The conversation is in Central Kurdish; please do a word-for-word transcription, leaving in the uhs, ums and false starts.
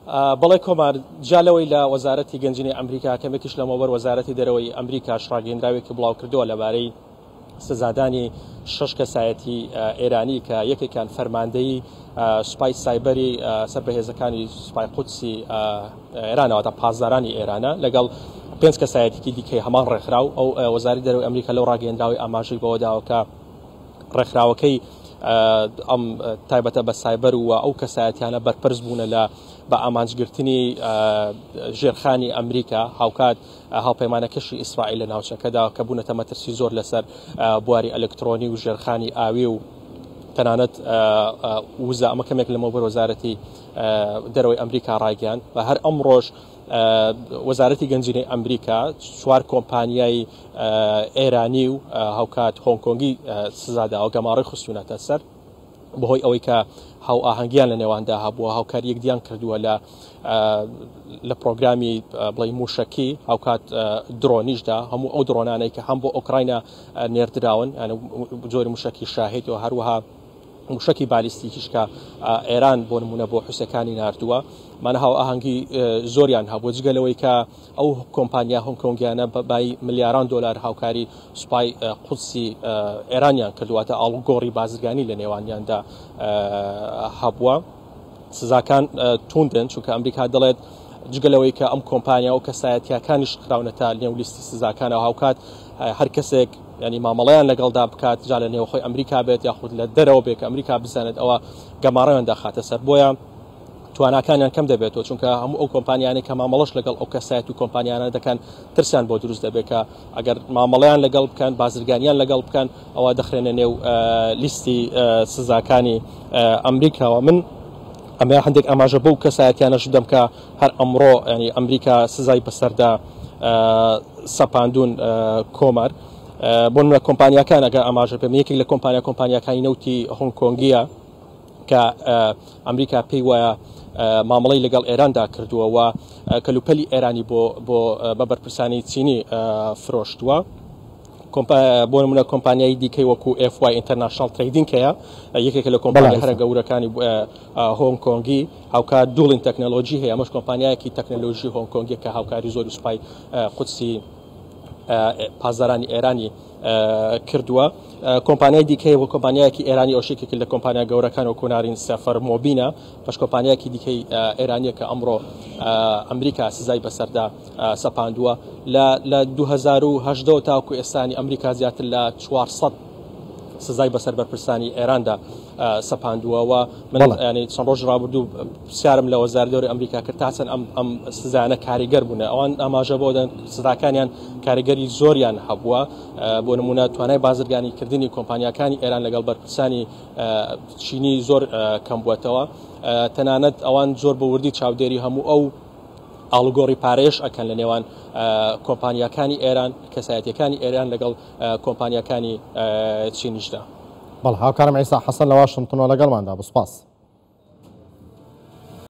بەڵێ کۆمار، جا لەوەی لە وەزارەتی گەنجینەی ئەمریکا کەمێکیش لەمەوبەر وەزارەتی دەرەوەی ئەمریکاش ڕاگەیەندراوێکی بڵاو کردووە لەبارەی سزادانی شەش کەسایەتی ئێرانی کە یەکێکیان فەرماندەی سوپای سایبەری سەر بە هێزەکانی سوپای قودسی ئێرانەوە تا پاسدارانی ئێرانە لەگەڵ پێنج کەسایەتێکی دیکەی هەمان ڕێکخراو. ئەو وەزارەتی دەرەوەی ئەمریکا لەو ڕاگەیەندراوی ئاماژەی بەوە داوە کە ڕێکخراوەکەی ئەم تایبەتە بە سایبەر و ئەو کەسایەتیانە بەرپرس بوونە لە بە ئامانجگرتنی ژێرخانی ئەمریکا، هاوکات هاوپەیمانەکەشی ئیسرائیل لە ناوچەکەدا کە بوونەتە مەترسی زۆر لەسەر بواری ئەلکترۆنی و ژێرخانی ئاوی و تەنانەت وزە. ئەمە کەمێک لەمەوبەر وەزارەتی دەرەوەی ئەمریکا ڕایگەیاند و هەر ئەمڕۆژ وەزارەتی گەنجینەی ئەمریکا چوار کۆمپانیای ئێرانی و هاوکات هۆنگ کۆنگی سزاداوە، گەماڕی خستوونەتە سەر بەهۆی ئەوەی کە هاوئاهەنگیان لە نێواندا هەبووە، هاوکاری یەکدیان کردووە لە لە پرۆگرامی بڵێ موشکی، هاوکات درۆنیشدا، هەموو ئەو درۆنانەی کە هەم بۆ ئۆکراینا نێردراون، جۆری موشکی شاهید و هەروەها موشکی بالیستیکیش کە ئێران بۆ نمونە بۆ حوسەکانی ناردووە، مانە هاوئاهەنگی زۆریان هەبوو. جگە لەوەی کە ئەو کۆمپانیا هۆنگ کۆنگیانە بە بای ملیاران دلار هاوکاری سوپای قودسی ئێرانیان کردووەتە، ئاڵوگۆڕی بازرگانی لە نێوانیاندا هەبووە. سزاکان توندن، چونکە ئەمریکا دەڵێت جگە لەوەی کە ئەم کۆمپانیا و کەسایەتیەکانیش خراونەتە نێو لیستی سزاکانەوە، هاوکات هەر کەسێک ینی مامەڵەیان لەگەڵدا بکات، جا لە نێوخۆی ئەمریکا بێت یاخود لە دەرەوە بێت کە ئەمریکا بزانێت، ئەوە گەماڕەیان دەخاتە سەر. بۆیە تواناکانیان کەم دەبێتەوە، چونکە هەموو ئەو کۆمپانیانەی کە مامەڵەش لەگەڵ ئەو کەسایەت و کۆمپانیانە دەکەن ترسیان بۆ دروست دەبێت کە ئەگەر مامەڵەیان لەگەڵ بکەن، بازرگانیان لەگەڵ بکەن، ئەوە دەخرێنە نێو لیستی سزاکانی ئەمریکاوە. من ئەمە هەندێک ئاماژە بەو کەسایەتیانەش بدەم کە هەر ئەمڕۆ ینی ئەمریکا سزای بەسەردا سەپاندون کۆمار. بۆ نمونە کۆمپانیاکان ئەگەر ئاماژە پێم، یەکێک لە کۆمپانیا کۆمپانیاکانی نەوتی هۆنگ کۆنگیە کە ئەمریکا پێی وایە مامەڵەی لەگەڵ ئێراندا کردووە و کەلوپەلی ئێرانی بۆ بۆ بە بەرپرسانی چینی فرۆشتووە. بۆ نمونە کۆمپانیای دیکەی وەکو FY International Trading هەیە، یەکێکە لە کۆمپانیا هەرە گەورەکانی هۆنگ کۆنگی. هاوکات دوڵین تەکنەلۆژی هەیە، ئەمەش کۆمپانیایەکی تەکنەلۆژی هۆنگ کۆنگی کە هاوکاری زۆر سوپای قودسی پاسدارانی ئێرانی کردووە. کۆمپانیای دیکەی وە کۆمپانیایەکی ئێرانی ئەوشێکێک لە کۆمپانیا گەورەکان و کۆنارین سەفەر مۆبینە، پش کۆمپانیایەکی دیکەی ئێرانیە کە ئەمڕۆ ئەمریکا سزای بەسەردا سەپاندووە. لە دوو هەزار و هەژدە تاکو ئێستانی ئەمریکا زیاتر لە چوار سەد سزای بەسەر بەرپرسانی ئێراندا سەپاندووە. و من ینی چەند ڕۆژ ڕابردوو پرسیارم لە وەزارەتی دەرەوەی ئەمریکا کرد تا چەند ئەم ئەم سزایانە کاریگەر بوونە. ئەوان ئاماژە بۆ دەن سزاکانیان کاریگەری زۆریان هەبووە. بۆ نمونە توانای بازرگانیکردنی کۆمپانیاکانی ئێران لەگەڵ بەرپرسانی چینی زۆر کەم بووەتەوە. تەنانەت ئەوان زۆر بە وردی چاودێری هەموو ئەو ئاڵوگۆڕی پارێش ئەکەن لە نێوان کۆمپانیاکانی ئێران، کەسایەتیەکانی ئێران لەگەڵ کۆمپانیاکانی چینیشدا. بەڵ هاوکارم عیسا حەسەن لە واشنگتنەوە لەگەڵماندا بوو، سپاس.